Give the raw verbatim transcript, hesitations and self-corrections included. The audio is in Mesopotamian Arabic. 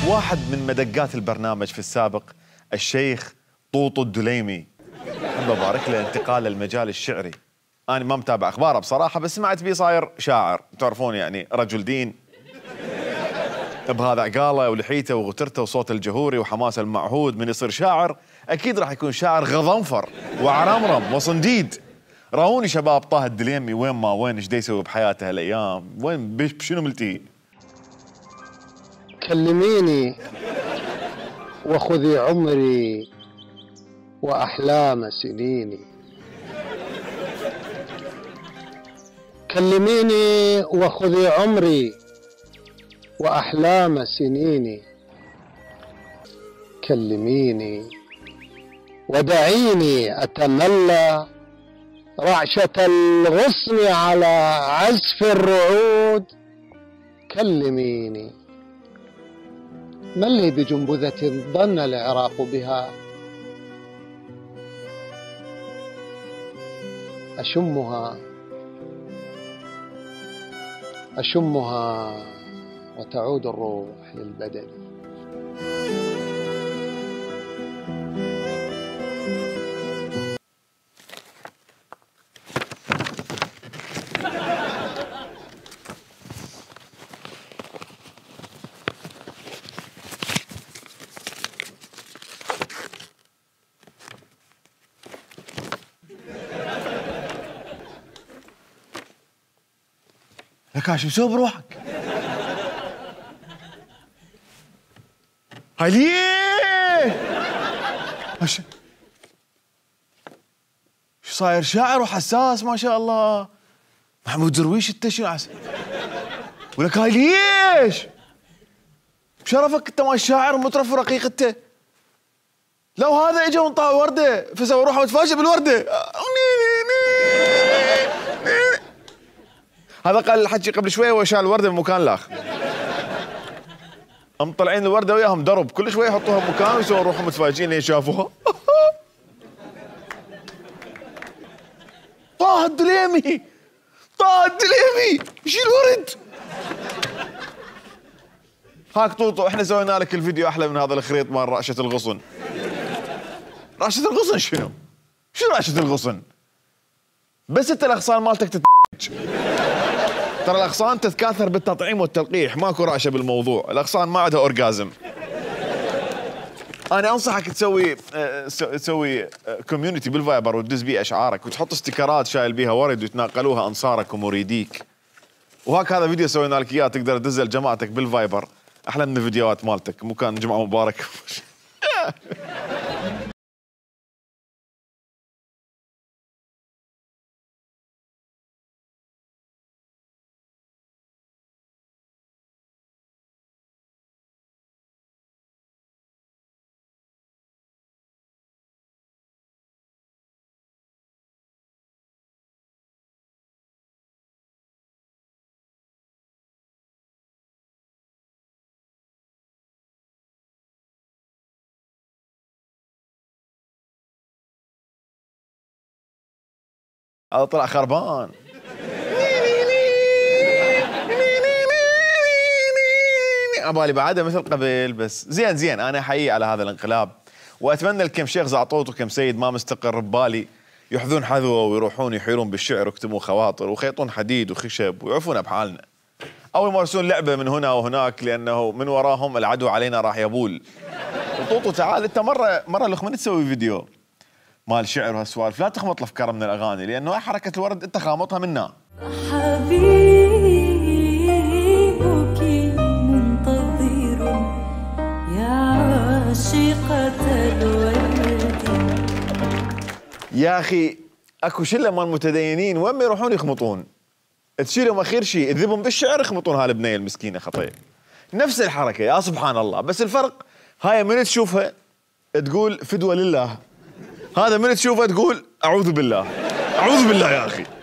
واحد من مدقات البرنامج في السابق الشيخ طوطو الدليمي، أحب أبارك له انتقاله للمجال الشعري. أنا ما متابع أخباره بصراحة، بس سمعت بيه صاير شاعر، تعرفون يعني رجل دين بهذا عقاله ولحيته وغترته وصوته الجهوري وحماسه المعهود. من يصير شاعر أكيد راح يكون شاعر غضنفر وعرمرم وصنديد. راوني شباب طه الدليمي وين ما وين، ايش دا يسوي بحياته هالايام، وين بشنو ملتهي؟ كلميني وخذي عمري وأحلام سنيني، كلميني وخذي عمري وأحلام سنيني، كلميني ودعيني أتملى رعشة الغصن على عزف الرعود، كلميني ما اللي بجنبذة ظن العراق بها، أشمها أشمها وتعود الروح للبدن. لك شو مسوي بروحك؟ هاي ليه؟ شو صاير شاعر وحساس ما شاء الله. محمود درويش انت شنو عسى؟ ولك هاي ليش؟ بشرفك انت ما شاعر ومطرف ورقيق انت. لو هذا اجى ونطاع ورده فسوى روحه متفاجئ بالورده. هذا قال الحكي قبل شويه وشال الورده بمكان الاخر. هم طلعين الورده وياهم درب، كل شويه يحطوها بمكان ويسوون روحهم متفاجئين لين شافوها. طه الدليمي، طه الدليمي شيل الورد. هاك طوطو احنا سوينا لك الفيديو احلى من هذا الخريط مال رعشه الغصن. رعشه الغصن شنو؟ شنو رعشه الغصن؟ بس انت الاغصان مالتك تتج. ترى الاغصان تتكاثر بالتطعيم والتلقيح، ماكو رعشه بالموضوع، الاغصان ما عندها اورجازم. انا انصحك تسوي تسوي كوميونتي بالفايبر وتدز بيه اشعارك وتحط استيكرات شايل بيها ورد ويتناقلوها انصارك ومريديك. وهاك هذا فيديو سوينا لك اياه تقدر تدزه لجماعتك بالفايبر، احلى من الفيديوهات مالتك. مو كان جمعه مبارك؟ هذا طلع خربان. عبالي بعده مثل قبل، بس زين زين. انا احيي على هذا الانقلاب واتمنى لكم شيخ زعطوط وكم سيد ما مستقر ببالي ياخذون حذوه ويروحون يحيرون بالشعر ويكتبون خواطر ويخيطون حديد وخشب ويعرفون بحالنا، او يمارسون لعبه من هنا وهناك، لانه من وراهم العدو علينا راح يبول. وطوطو تعال انت مره مره لخمن تسوي فيديو مال شعر وهالسوالف، لا تخمط الافكار من الاغاني، لانه حركه الورد انت خامطها منا. حبيبك منتظر يا عاشقة الورد. يا اخي اكو شله مال متدينين وين ما يروحون يخمطون، تشيلهم اخير شيء تذبهم بالشعر يخمطون هالبنيه المسكينه خطيه. نفس الحركه يا سبحان الله، بس الفرق هاي من تشوفها تقول فدوه لله، هذا من تشوفه تقول اعوذ بالله. اعوذ بالله يا اخي.